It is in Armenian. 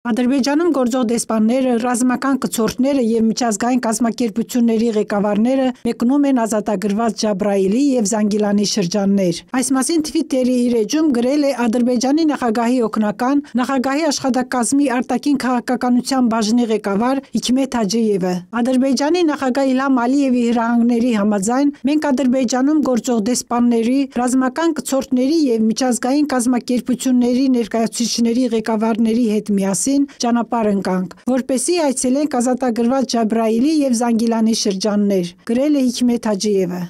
Ադրբեջանում գործող դեսպանները, ռազմական կցորդները և միջազգային կազմակերպությունների ղեկավարները մեկնում են ազատագրված Ջաբրայիլի և Զանգիլանի շրջաններ։ Այս մասին Թվիտերի իր էջում գրել է Ադրբեջանի նախագահի օգնական, նախագահի աշխատակազմի արտաքին քաղաքականության բաժնի ղեկավար Հիքմեթ Հաջիևը։ Ադրբեջանի նախագահ Իլհամ Ալիևի հրահանգների համաձայն մենք Ադրբեջանում գործող դեսպանների, ռազմական կցորդների և միջազգային կազմակերպությունների ներկայացուցիչների ղեկավարների հետ միասին ճանապարհ ընկանք, որպեսզի այցելենք ազատագրված Ջաբրայիլի և Զանգիլանի շրջաններ, գրել է Հիքմեթ Հաջիևը։